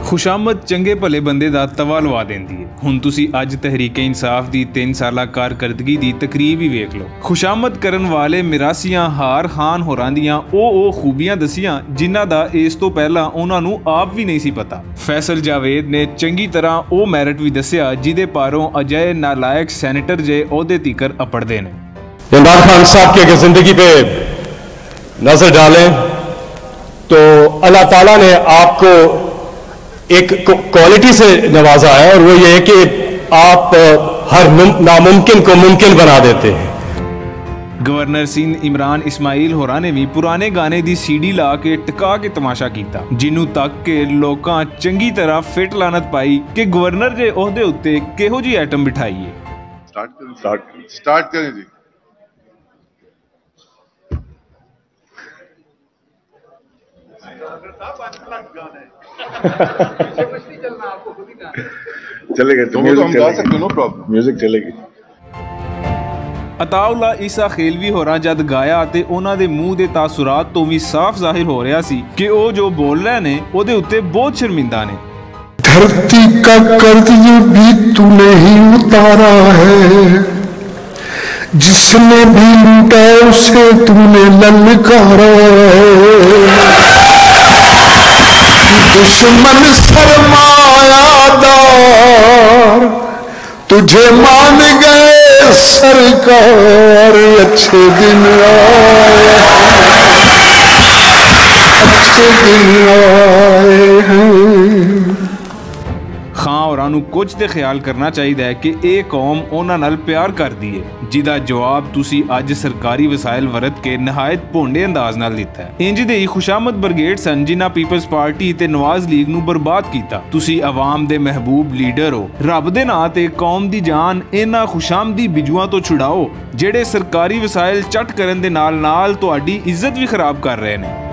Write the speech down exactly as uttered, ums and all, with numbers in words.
خوشامد چنگے بھلے بندے دا توا لوا دیندی ہے۔ ہن تسی اج تحریک انصاف دی تین سالہ کارکردگی دی تقریب ہی ویکھ لو۔ خوشامد کرن والے میراسیاں ہار خان ہوراں دیاں او او خوبیاں دسیاں، جنہاں دا اس تو پہلا انہاں نوں آپ وی نہیں سی پتا۔ فیصل جاوید نے چنگی طرح او میرٹ وی دسیا، جدے پاروں اجائے نالائق سینیٹر جے عہدے تیکر اپڑدے نے۔ عمران خان صاحب کی اگر زندگی پہ نظر ڈالیں تو اللہ تعالیٰ نے آپ کو ایک کو-، کوالٹی سے نوازا ہے، اور وہ یہ ہے کہ آپ ہر مم-، ناممکن کو ممکن بنا دیتے ہیں۔ گورنر سندھ عمران اسماعیل ہوراں نے بھی پرانے گانے دی سی ڈی لا کے ٹکا کے تماشا کیتا، جنوں تک کے لوکاں چنگی طرح فٹ لعنت پائی کہ گورنر دے عہدے اُتے کہو جی ایٹم بٹھائی ہے۔ سٹارٹ کریں، سٹارٹ کریں، سٹارٹ کریں جی۔ چلے گئے تو تو ہم میوزک گا چلے سکتے، گی۔ نو پرابلم۔ میوزک چلے گی۔ عطا اللہ عیسیٰ خیلوی ہوراں جد گایا تے انہاں دے منہ دے تاثرات تو وی صاف ظاہر ہو رہیا سی کہ او جو بول رہے نے، او دے اُتے بہت شرمندہ نے۔ دھرتی کا قرض بھی تو نہیں اتارا ہے، جس نے بھی لوٹا اسے تو نے للکارا ہے۔ دشمن سرمایہ دار تجھے مان گئے سرکار، اچھے دن آئے، اچھے دن آئے ہیں۔ خان ہوراں نوں کچھ تے خیال کرنا چاہیدا ہے کہ اے قوم انہاں نال پیار کردی ہے، جدا جواب تسی اج سرکاری وسائل ورت کے نہایت بھونڈے انداز نال دتا ہے۔ انج دے ہی خوشامد برگیڈ سن جنہاں پیپلز پارٹی تے نواز لیگ نوں برباد کیتا۔ تسی عوام دے محبوب لیڈر ہو، رب دے ناں تے قوم دی جان انہاں خوشامدی بجواں تو چھڑاؤ، جڑے سرکاری وسائل چٹ کرن دے نال نال تہاڈی عزت وی خراب کر رہے نے۔